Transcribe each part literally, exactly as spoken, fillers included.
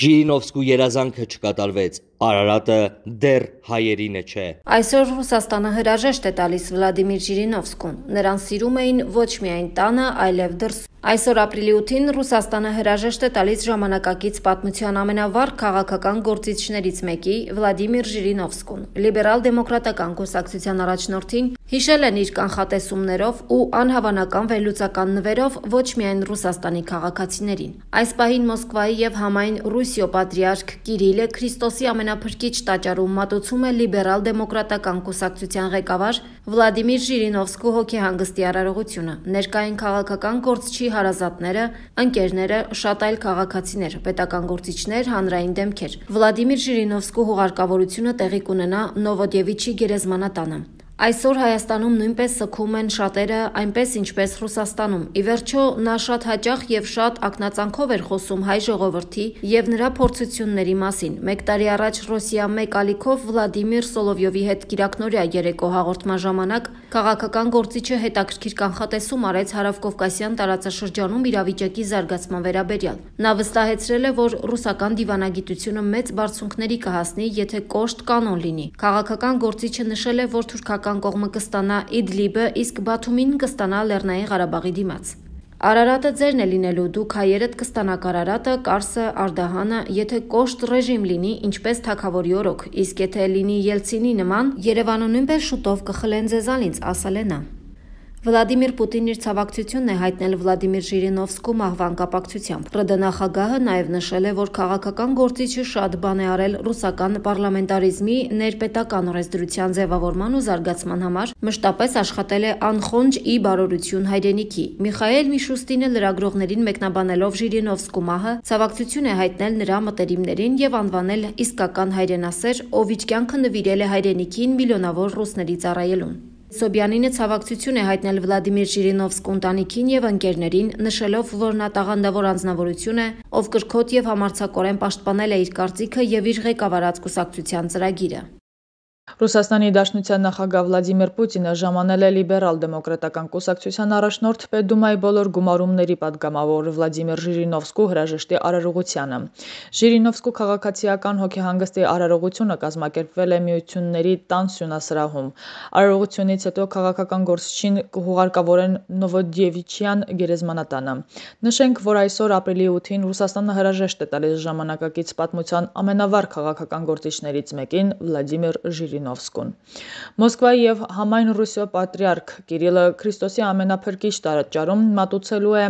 Ժիրինովսկու երազանքը չկատարվեց, Արարատը դեռ հայերինը չէ։ Այսօր Ռուսաստանը հրաժեշտ է տալիս Վլադիմիր Ժիրինովսկուն։ Նրան սիրում էին ոչ միայն տանը, այլև դրսում։ Այսօր ապրիլի ութին Ռուսաստանը հրաժեշտ է տալիս ժամանակակից պատմության ամենավառ քաղաքական գործիչներից մեկի Վլադիմիր Ժիրինովսկուն։ Լիբերալ-դեմոկրատական կուսակցության առաջնորդին հիշել են իր կանխատեսումներով ու անհավանական վերլուծական նվերով ոչ միայն Ռուսաստանի քաղաքացիներին։ Այս պահին Մոսկվայի եւ համայն Ռուսիո պատրիարք Կիրիլը Քրիստոսի ամենափրկիչ տաճարում մատուցում է լիբերալ-դեմոկրատական կուսակցության ղեկավար Վլադիմիր Ժիրինովսկու հոգեհանգստի արարողությունը։ Ներկային քաղաքական գործչի հարազատները, ընկերները, շատ այլ քաղաքացիներ, պետական գործիչներ, հանրային դեմքեր։ Վլադիմիր Ժիրինովսկու հուղարկավորությունը տեղի կունենա Նովոդևիչի գերեզմանատանը։ Այսօր Հայաստանում նույնպես սգում են շատերը, այնպես ինչպես Ռուսաստանում։ Ի վերջո նա շատ հաճախ եւ շատ ակնածանքով էր խոսում հայ ժողովրդի եւ նրա փորձությունների մասին։ Մեկ տարի առաջ Ռոսիա մեկ ալիքով Վլադիմիր Սոլովյովի հետ կիրակնորյա երեկո հաղորդման ժամանակ քաղաքական գործիչը հետաքրքիր կանխատեսում արեց հարավկովկասյան տարածաշրջանում իրավիճակի զարգացման վերաբերյալ։ Նա վստահեցրել է, որ ռուսական դիվանագիտությունը մեծ բարձունքների կհասնի, եթե կոշտ կանոն լինի։ Քաղաքական գործիչը նշել է, որ թուրքական կողմը կստանա Իդլիբը, իսկ Բաթումին կստանա Լեռնային Ղարաբաղի դիմաց։ Արարատը ձերն է լինելու, դուք հայերդ կստանաք Արարատը, Կարսը, Արդահանը, եթե կոշտ ռեժիմ լինի, ինչպես թագավորի օրոք, իսկ եթե լինի Ելցինի նման, Երևանը նույնպես շուտով կխլեն ձեզանից, ասել է նա։ Վլադիմիր Պուտինն իր ցավակցությունն է հայտնել Վլադիմիր Ժիրինովսկու մահվան կապակցությամբ։ ՌԴ նախագահը նաև նշել է, որ քաղաքական գործիչը շատ բան է արել ռուսական պարլամենտարիզմի ներպետական օրենսդրության ձևավորման ու զարգացման համար, մշտապես աշխատել է անխոնջ ի բարօրություն հայրենիքի։ Միխայել Միշուստինը լրագրողներին մեկնաբանելով Ժիրինովսկու մահը, ցավակցություն է հայտնել նրա մտերիմներին եւ անվանել իսկական հայրենասեր, ով իր կյանքը նվիրել է հայրենիքին միլիոնավոր ռուսների ծառայելուն։ Սոբյանինը ցավակցություն է հայտնել Վլադիմիր Ժիրինովսկու ընտանիքին եւ ընկերներին, նշելով, որ նա տաղանդավոր անձնավորություն է, ով կրքոտ եւ համարձակորեն պաշտպանել է իր կարծիքը եւ իր ղեկավարած կուսակցության ծրագիրը։ Ռուսաստանի Դաշնության նախագահ Վլադիմիր Պուտինը ժամանել է լիբերալ-դեմոկրատական կուսակցության առաջնորդ Պետդումայի բոլոր գումարումների պատգամավոր Վլադիմիր Ժիրինովսկու հրաժեշտի արարողությանը։ Ժիրինովսկու քաղաքացիական հոգեհանգստի արարողությունը կազմակերպվել է Միությունների տան սյունասրահում։ Արարողությունից հետո քաղաքական գործչին կհուղարկավորեն Նովոդևիչյան գերեզմանատանը։ Նշենք, որ այսօր ապրիլի ութին Ռուսաստանը հրաժեշտ է տալիս ժամանակակից պատմության ամենավառ քաղաքական գործիչներից մեկին Վլադիմիր Ժիրինովսկուն։ Մոսկվայի եւ համայն Ռուսիո պատրիարք Կիրիլը Քրիստոսի ամենափրկիչ տաճարում մատուցելու է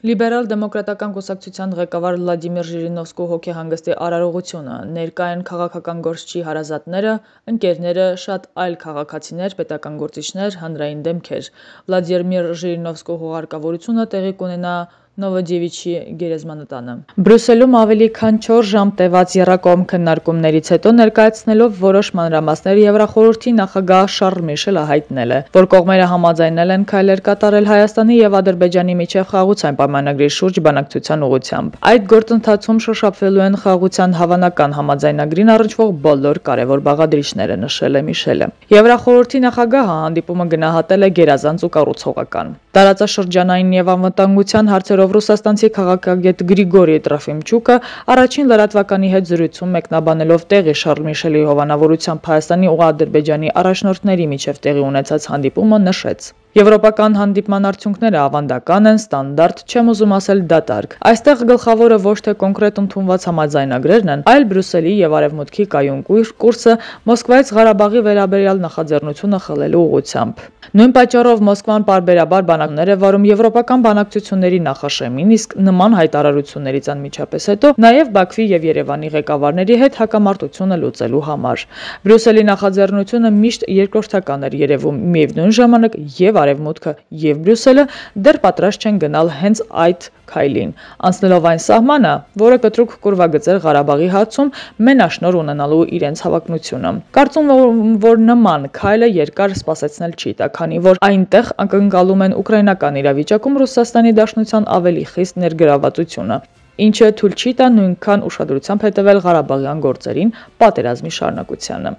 լիբերալ-դեմոկրատական կուսակցության ղեկավար Վլադիմիր Ժիրինովսկու հոգեհանգստի արարողությունը։ Ներկա են քաղաքական գործչի հարազատները, ընկերները, շատ այլ քաղաքացիներ, պետական գործիչներ, հանրային դեմքեր։ Վլադիմիր Ժիրինովսկու հուղարկավորությունը տեղի կունենա Նովոդևիչի գերեզմանատանը։ Բրյուսելում ավելի քան չորս ժամ տևած եռակողմ քննարկումներից հետո ներկայացնելով որոշ մանրամասներ Եվրախորհրդի նախագահ Շարլ Միշելը հայտնել է, որ կողմերը համաձայնել են քայլեր կատարել Հայաստանի եւ Ադրբեջանի միջև խաղաղության պայմանագրի շուրջ բանակցության ուղղությամբ։ Այդ գործընթացում շոշափվելու են խաղաղության հավանական համաձայնագրին առնչվող բոլոր կարևոր բաղադրիչները, նշել է Միշելը։ Եվրախորհրդի նախագահը հանդիպումը գնահատել է գերազանց ու կառուցողական։ Տարածաշրջանային եւ անվտանգության հարցերով ռուսաստանցի քաղաքագետ Գրիգորի Տրոֆիմչուկը առաջին լրատվականի հետ զրույցում մեկնաբանելով տեղի Շարլ Միշելի հովանավորությամբ Հայաստանի ու Ադրբեջանի առաջնորդների միջև տեղի ունեցած հանդիպումը նշեց. Եվրոպական հանդիպման արդյունքները ավանդական են, ստանդարտ, չեմ ուզում ասել դատարկ։ Այստեղ գլխավորը ոչ թե կոնկրետ ընդունված համաձայնագրերն են, այլ Բրյուսելի եւ Արևմուտքի կայուն կուրսը Մոսկվայից Ղարաբաղի վերաբերյալ նախաձեռնությունը խլելու ուղղությամբ։ Նույն պատճառով Մոսկվան պարբերաբար բանակներ է վարում եվրոպական բանակցությունների նախաշեմին, իսկ նման հայտարարություններից անմիջապես հետո նաև Բաքվի եւ Երևանի ղեկավարների հետ հակամարտությունը լուծելու համար։ Բրյուսելի նախաձեռնությունը միշտ երկրորդական էր երևում, միևնույն ժամանակ եւ Արևմուտքը եւ Բրյուսելը դեռ պատրաստ չեն գնալ հենց այդ քայլին, անցնելով այն սահմանը, որը կտրուկ կուրվագծեր Ղարաբաղի հարցում մենաշնոր ունենալու իրենց հավակնությունը։ Կարծում եմ, որ նման քայլը երկար սպասեցնել չի տա, քանի որ այնտեղ ակնկալում են ուկրաինական իրավիճակում Ռուսաստանի Դաշնության ավելի խիստ ներգրավվածությունը, ինչը թույլ չի տա նույնքան ուշադրությամբ հետևել Ղարաբաղյան գործերին, պատերազմի շարունակությանը։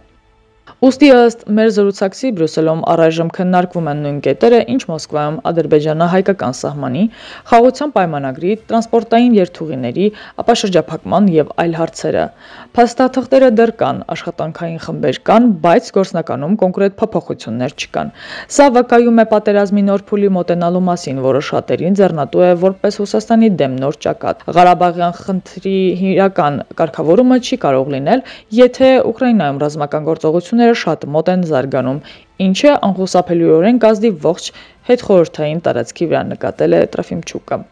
Ուստի ըստ մեր զրուցակցի Բրյուսելում առայժմ քննարկվում են նույն կետերը, ինչ Մոսկվայում ադրբեջանա-հայկական սահմանի, խաղաղության պայմանագրի, տրանսպորտային երթուղիների, ապա շրջափակման եւ այլ հարցերը։ Փաստաթղթերը դեռ կան, աշխատանքային խմբեր կան, բայց գործնականում կոնկրետ փոփոխություններ չկան։ Սա վկայում է պատերազմի նոր փուլի մոտենալու մասին, որը շատերին ձեռնատու է որպես Ռուսաստանի դեմ նոր ճակատ։ Ղարաբաղյան խնդրի իրական կարգավորումը չի կարող լինել, եթե Ուկրաինայում ռազմական գործողությունները շատ մոտ են զարգանում, ինչը անխուսափելիորեն կազդի ողջ հետխորհրդային տարածքի վրա, նկատել է Տրոֆիմչուկը։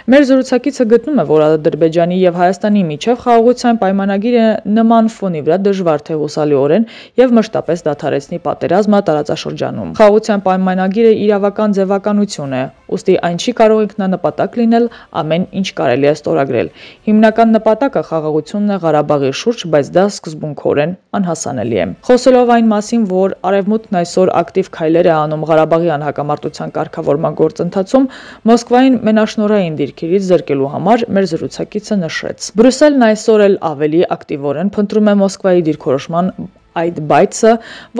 Մեր զրուցակիցը գտնում է, որ Ադրբեջանի եւ Հայաստանի միջև խաղաղության պայմանագիրը նման ֆոնի վրա դժվար թե հուսալիորեն եւ մշտապես դադարեցնի պատերազմը տարածաշրջանում։ Խաղաղության պայմանագիրը իրավական ձևականություն է, ուստի այն չի կարող ինքնանպատակ լինել ամեն ինչ կարելի է ստորագրել։ Հիմնական նպատակը խաղաղությունն է Ղարաբաղի շուրջ, բայց դա սկզբունքորեն անհասանելի է։ Խոսելով այն մասին, որ Արևմուտքն այսօր ակտիվ քայլեր է անում Ղարաբաղյան հակամարտության կարգավորման գործընթացում, Մոսկվային մենաշնորհային դիրքերից զրկելու համար մեր զրուցակիցը նշեց. Բրյուսելն այսօր էլ ավելի ակտիվորեն փնտրում է Մոսկվայի դիրքորոշման այդ բայցը,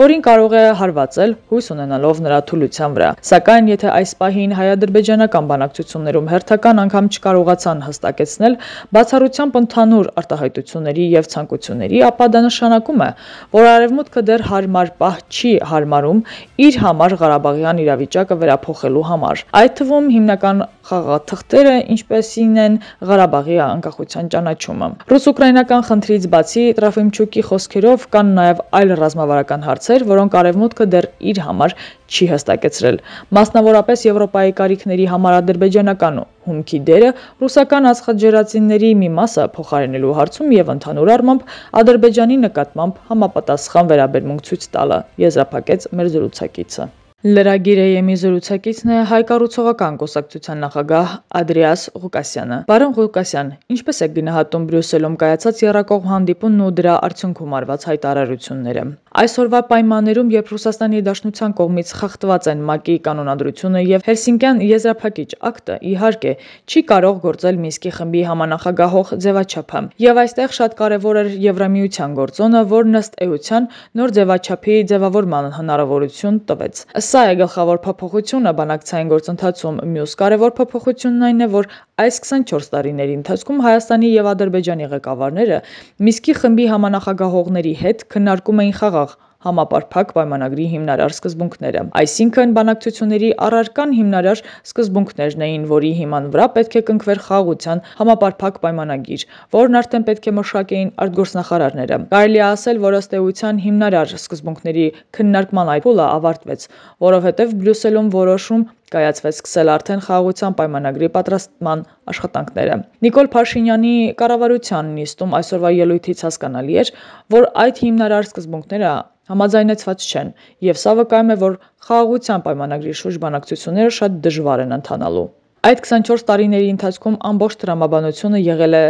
որին կարող է հարվածել հույս ունենալով նրա թուլության վրա։ Սակայն եթե այս պահին հայ-ադրբեջանական բանակցություններում հերթական անգամ չկարողացան հստակեցնել բացառությամբ ընդհանուր արտահայտությունների եւ ցանկությունների, ապա դա նշանակում է, որ Արևմուտքը դեռ հարմար պահ չի հարմարում իր համար Ղարաբաղյան իրավիճակը վերափոխելու համար։ Այդ թվում հիմնական խաղաթղթերը ինչպեսին են Ղարաբաղի անկախության ճանաչումը։ Ռուս-ուկրաինական խնդրից բացի Տրոֆիմչուկի խոսքերով կան նաեւ այլ ռազմավարական հարցեր, որոնք Արևմուտքը դեռ իր համար չի հստակեցրել։ Մասնավորապես Եվրոպայի կարիքների համար ադրբեջանական հումքի դերը ռուսական ածխաջրածինների մի մասը փոխարինելու հարցում եւ ընդհանուր առմամբ Ադրբեջանի նկատմամբ համապատասխան վերաբերմունք ցույց տալը, եզրափակեց մեր զրուցակիցը։ Լրագիրը ԵՄ զրուցակիցն է հայ կառուցողական կուսակցության նախագահ Ադրիաս Ղուկասյանը։ Պարոն Ղուկասյան, ինչպես եք գնահատում Բրյուսելում կայացած եռակողմ հանդիպումն ու դրա արդյունքում արված հայտարարությունները։ Այսօրվա պայմաններում, երբ Ռուսաստանի Դաշնության կողմից խախտված են ՄԱԿ-ի կանոնադրությունը եւ Հելսինկյան եզրափակիչ ակտը, իհարկե, չի կարող գործել Մինսկի խմբի համանախագահող ձևաչափը։ Եվ այստեղ շատ կարևոր էր Եվրամիության գործոնը, որն ըստ էության նոր ձևաչափի ձևավորման հնարավորություն տվեց։ Սա է գլխավոր փոփոխությունը բանակցային գործընթացում։ Մյուս կարևոր փոփոխությունն այն է, որ այս քսանչորս տարիների ընթացքում Հայաստանի եւ Ադրբեջանի ղեկավարները Մինսկի խմբի համանախագահողների հետ քննարկում էին խաղաղ համապարփակ պայմանագրի հիմնարար սկզբունքները։ Այսինքն բանակցությունների առարկան հիմնարար սկզբունքներն էին, որի հիման վրա պետք է կնքվեր խաղաղության համապարփակ պայմանագիր, որն արդեն պետք է մշակեին արտգործնախարարները։ Կարելի է ասել, որ ըստ էության հիմնարար սկզբունքների քննարկման այդ փուլը ավարտվեց, որովհետև Բրյուսելում որոշում կայացվեց սկսել արդեն խաղաղության պայմանագրի պատրաստման աշխատանքները։ Նիկոլ Փաշինյանի կառավարության նիստում այսօրվա ելույթից հասկանալի էր, որ այդ հիմնարար սկզբունքները համաձայնեցված չեն, եւ սա վկայում է, որ խաղաղության պայմանագրի շուրջ բանակցությունները շատ դժվար են ընթանալու։ Այդ քսանչորս տարիների ընթացքում ամբողջ տրամաբանությունը եղել է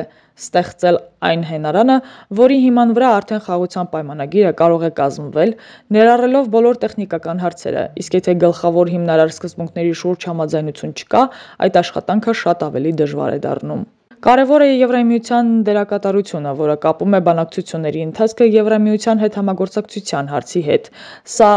ստեղծել այն հենարանը, որի հիման վրա արդեն խաղաղության պայմանագիրը կարող է կազմվել, ներառելով բոլոր տեխնիկական հարցերը, իսկ եթե գլխավոր հիմնարար սկզբունքների շուրջ համաձայնություն չկա, այդ աշխատանքը շատ ավելի դժվար է դառնում։ Կարևոր է Եվրամիության դերակատարությունը, որը կապում է բանակցությունների ընթացքը Եվրամիության հետ համագործակցության հարցի հետ։ Սա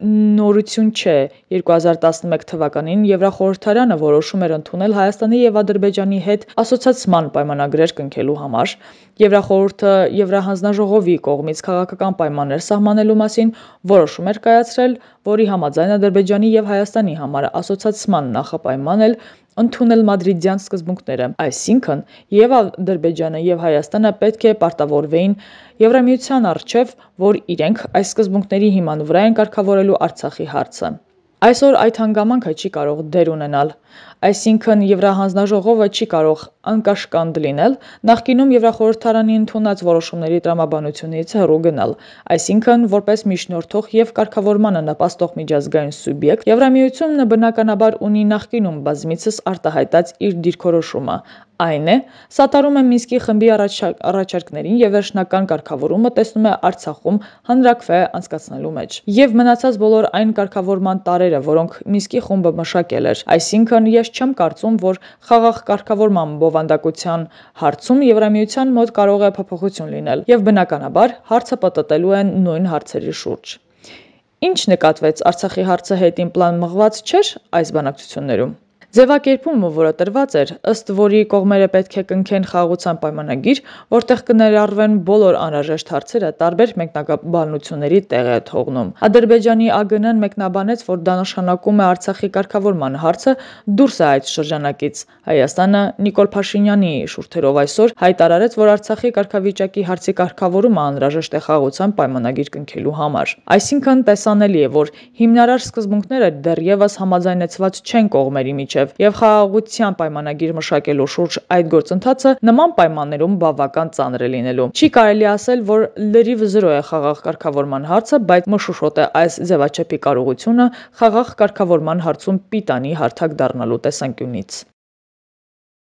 նորություն չէ։ երկու հազար տասնմեկ թվականին Եվրախորհրդարանը որոշում էր ընդունել Հայաստանի եւ Ադրբեջանի հետ ասոցիացիան պայմանագրեր կնքելու համար։ Եվրախորհուրդը Եվրահանձնաժողովի կողմից քաղաքական պայմաններ սահմանելու մասին որոշում էր կայացրել, որի համաձայն Ադրբեջանի եւ Հայաստանի համար ասոցիացիան նախապայման էլ ընդունել մադրիդյան սկզբունքները, այսինքն եւ Ադրբեջանը եւ Հայաստանը պետք է պարտավորվեին Եվրամիության առջև, որ իրենք այս սկզբունքների հիման վրա են կարգավորելու Արցախի հարցը։ Այսօր այդ հանգամանքը չի կարող դեր ունենալ, այսինքն Եվրահանձնաժողովը չի կարող անկաշկանդ լինել, նախկինում Եվրախորհրդարանի ընդունած որոշումների տրամաբանությունից հեռու գնալ, այսինքն որպես միջնորդող եւ կարգավորմանը նպաստող միջազգային սուբյեկտ, Եվրամիությունը բնականաբար ունի նախկինում բազմիցս արտահայտած իր դիրքորոշումը, այն է, սատարում է Մինսկի խմբի առաջարկներին եւ վերջնական կարգավորումը տեսնում է Արցախում հանրաքվե անցկացնելու մեջ եւ մնացած բոլոր այն կարգավորման տարերը, որոնք Մինսկի խումբը մշակել էր, այսինքն ես չեմ կարծում, որ խաղաղ կարգավորման բովանդակության հարցում Եվրամիության մոտ կարող է փոփոխություն լինել, եւ բնականաբար հարցը պատտելու են նույն հարցերի շուրջ։ Ինչ նկատվեց Արցախի հարցը հետին պլան մղված չէր այս բանակցություններում։ Ձևակերպումը, որը տրված էր, ըստ որի կողմերը պետք է կնքեն խաղաղության պայմանագիր, որտեղ կներառվեն բոլոր անհրաժեշտ հարցերը, տարբեր մեկնաբանությունների տեղ է թողնում։ Ադրբեջանի ԱԳՆ-ն մեկնաբանեց, որ դա նշանակում է Արցախի կարգավորման հարցը դուրս է այդ շրջանակից։ Հայաստանը Նիկոլ Փաշինյանի շուրթերով այսօր հայտարարեց, որ Արցախի կարգավիճակի հարցի կարգավորումը անհրաժեշտ է խաղաղության պայմանագիր կնքելու համար։ Այսինքն տեսանելի է, որ հիմնարար սկզբունքները դեռևս համաձայնեցված չեն կողմերի միջև, եւ խաղաղության պայմանագիր մշակելու շուրջ այդ գործընթացը նման պայմաններում բավական ծանր է լինելու։ Չի կարելի ասել, որ լրիվ զրո է խաղաղ կարգավորման հարցը, բայց մշուշոտ է այս ձևաչափի կարողությունը խաղաղ կարգավորման հարցում պիտանի հարթակ դառնալու տեսանկյունից։